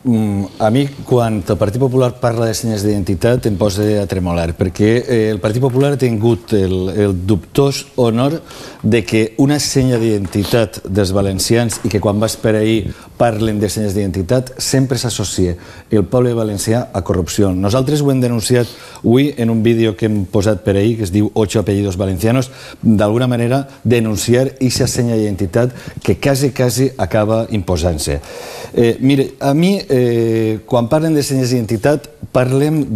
A mi, quan el Partit Popular parla de senyes d'identitat, em posa a tremolar, perquè el Partit Popular ha tingut el dubtós honor de que una senya d'identitat dels valencians i que quan vas per ahir parlen de senyes d'identitat sempre s'associa el poble valencià a corrupció. Nosaltres ho hem denunciat avui en un vídeo que hem posat per ahir, que es diu 8 apellidos valencianos, d'alguna manera denunciar aquesta senya d'identitat que quasi acaba imposant-se. Mire, a mi, quan parlen de senyes d'identitat, parlem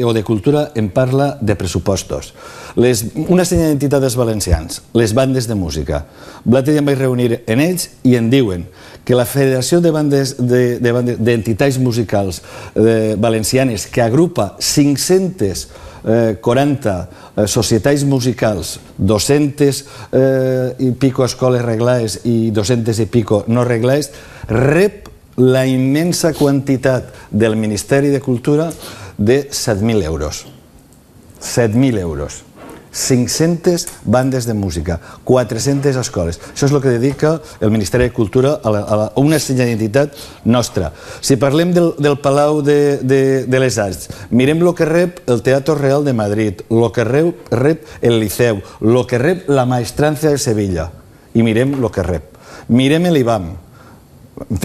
o de cultura, em parla de pressupostos. Una senya d'identitat dels valencians, les bandes de música. L'altre dia em vaig reunir en ells i em diuen que la Federació d'Entitats Musicals Valencianes, que agrupa 540 societats musicals, 200 i pico escoles reglades i 200 i pico no reglades, rep la immensa quantitat del Ministeri de Cultura de 7.000 euros. 7.000 euros. 500 bandes de música, 400 escoles. Això és el que dedica el Ministeri de Cultura a una senya d'identitat nostra. Si parlem del Palau de les Arts, mirem el que rep el Teatro Real de Madrid, el que rep el Liceu, el que rep la Maestranza de Sevilla, i mirem el que rep. Mirem l'IBAM.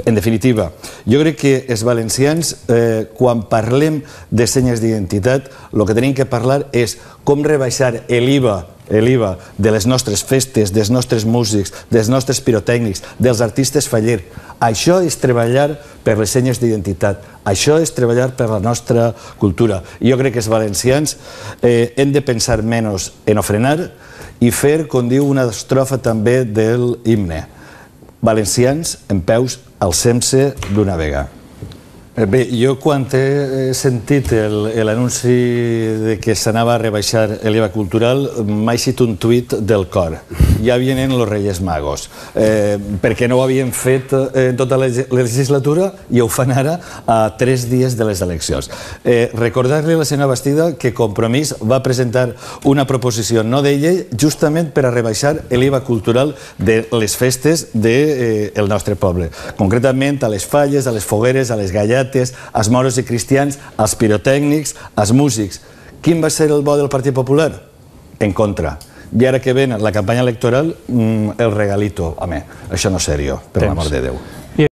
En definitiva, jo crec que els valencians, quan parlem de senyes d'identitat, el que tenim que parlar és com rebaixar l'IVA de les nostres festes, dels nostres músics, dels nostres pirotècnics, dels artistes faller. Això és treballar per les senyes d'identitat. Això és treballar per la nostra cultura. Jo crec que els valencians hem de pensar menys en ofrenar i fer, com diu una estrofa també del himne, valencians en peus alcem-se d'una vegada. Bé, jo quan he sentit l'anunci que s'anava a rebaixar l'IVA cultural m'ha eixit un tuit del cor. Ja vienen los Reyes Magos. Perquè no ho havien fet en tota la legislatura i ho fan ara a 3 dies de les eleccions. Recordar-li a la senyora Bastida que Compromís va presentar una proposició no de llei justament per a rebaixar l'IVA cultural de les festes del nostre poble. Concretament a les falles, a les fogueres, a les gallates, als moros i cristians, als pirotècnics, als músics. Quin va ser el bo del Partit Popular? En contra. I ara que ven la campanya electoral, el regalito. Home, això no és seriós, per l'amor de Déu.